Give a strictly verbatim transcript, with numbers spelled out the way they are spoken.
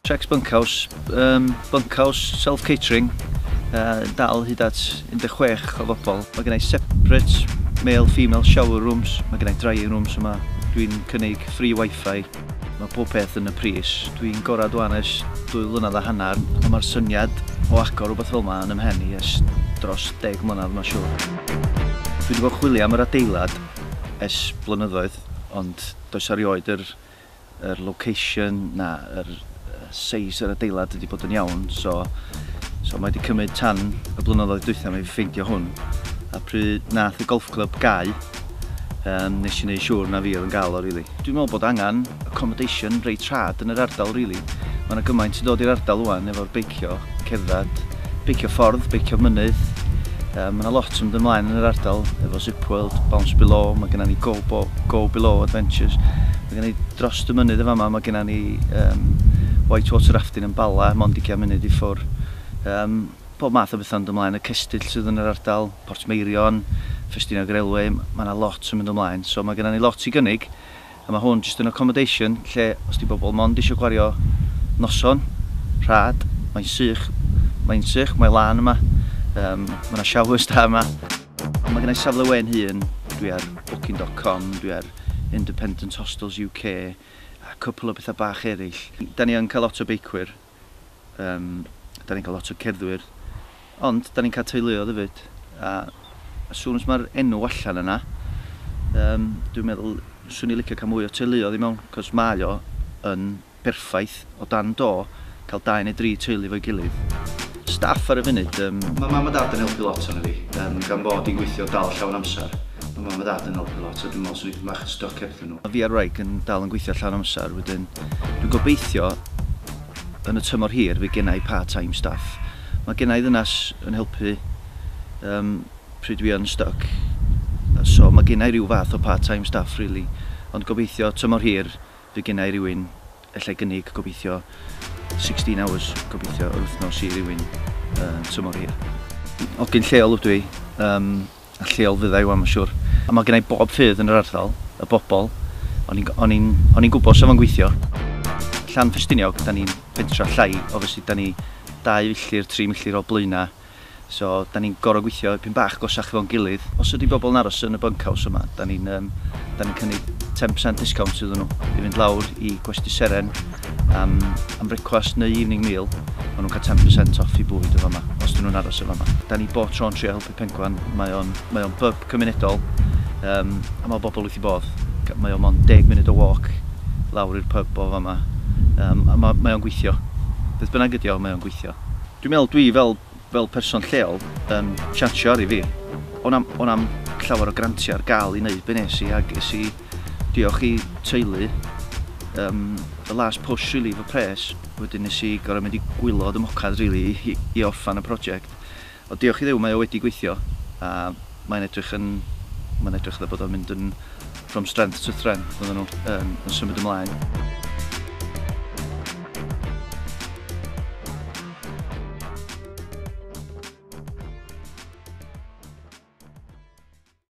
Trex Bunkhouse, um, bunkhouse self-catering, uh, dal hyd at un deg chwech o bobl. Mae gen i separate male-female shower rooms, mae gen i drying rooms yma. Dwi'n cynnig free wifi, mae pob peth yn y pris. Dwi'n gorad wan ers dwy flynedd a hanner, ond mae'r syniad o agor rhywbeth fel yma yn ymhen i ers dros deg mlynedd, mae'n siŵr. Dwi wedi bod yn chwilio am yr adeilad ers blynyddoedd, ond does erioed yr, yr location na yr size yr adeilad wedi bod yn iawn, so, so mae wedi cymryd tan y blynyddoedd dwytha i ffeindio hwn. A pryd nath y golf club gau, um, nes i wneud siŵr na fi oedd yn gael o, really. Dwi'n meddwl bod angen accommodation reit rhad yn yr ardal, really. Mae yna gymaint yn dod i'r ardal wan efo'r beicio, cerdded, beicio ffordd, beicio mynydd. Um, mae yna lot yn mynd ymlaen yn yr ardal efo Zip World, Bounce Below, mae gennym ni Go, Bo, Go Below Adventures. Mae gennym ni dros y mynydd y fama, mae gennym ni um, whitewater rafting yn Bala, mond ugain munud i ffwr. Um, pob math o bethau'n mynd ymlaen, y cestyll sydd yn yr ardal, Portmeirion, Ffestiniog Railway, mae yna lot yn mynd ymlaen. So mae gennym ni lot i gynnig, a mae hwn jyst yn accommodation lle os di bobl mond eisiau gwario noson, rhad, mae'n sych, mae'n sych, mae'n lan yma, um, mae yna showers da yma. Mae gen i safle we'n hun, dwi ar booking dot com, dwi ar Independent Hostels U K, a cwpl o bethau bach eraill. Da ni yn cael lot o beicwyr, um, da ni'n cael lot o cerddwyr, ond da ni'n cael teuluoedd hefyd. A as soon as mae'r enw allan yna, um, dwi'n meddwl swn i'n licio cael mwy o teuluoedd i mewn, cos mae o yn berffaith o dan do cael dau neu dri teulu efo'i gilydd. Staff ar y funud, um, mae mam a dad yn helpu lot arno fi, um, gan bod i'n gweithio dal llawn amser. Mae mam a dad yn helpu lot, a dwi'n meddwl swn i'n bach yn stuck hebddyn nhw. Fi a'r wraig yn dal yn gweithio llawn amser, wedyn dwi'n gobeithio yn y tymor hir fydd genna i part-time staff. Mae genna i ddynas yn helpu, um, pryd dwi yn stuck, so mae genna i ryw fath o part-time staff, really. Ond gobeithio tymor hir fydd genna i rywun allai gynnig gobeithio sixteen hours, gobeithio yr wythnos i rywun, uh, tymor hir. Hogyn lleol ydw i, um, a lleol fydda i wan, mae'n siŵr. A mae genna i bob ffydd yn yr ardal, y bobl, o'n i'n, o'n i'n, o'n i'n gwybod sef o'n gweithio. Llan Ffestiniog, da ni'n pentra llai, obviously da ni dau filltir, tri milltir o Blaenau, so da ni'n gorfod gweithio dipyn bach gosach efo'n gilydd. Os ydy bobl yn aros yn y bunkhouse yma, da ni'n, um, da ni'n cynnig ten percent discount iddyn nhw i fynd lawr i Gwesty Seren am, am brecwast neu evening meal. Maen nhw'n cael ten percent off i bwyd o fama, os dyn nhw'n aros o fama. Da ni bob tro'n trio helpu Penguan, mae o'n, mae o'n pub cymunedol, um, a mae bobl wrth i bodd. Mae o'n mond deg munud o walk lawr i'r pub o fama, um, a ma, mae o'n gweithio. Beth bynnag ydi o, mae o'n gweithio. Dwi'n meddwl dwi fel, fel person lleol yn chansio ar i fi. O'n am, o'n am llawer o grantiau ar gael i wneud be nes i, ac es i diolch i teulu, um, the last push really efo pres, wedyn nes i gorfod mynd i gwylod y mocad really i, i orffan y prosiect. Ond diolch i Dduw mae o wedi gweithio, a mae'n edrych yn, mae'n edrych fatha bod o'n mynd yn from strength to strength, oedden nhw, um, yn symud ymlaen.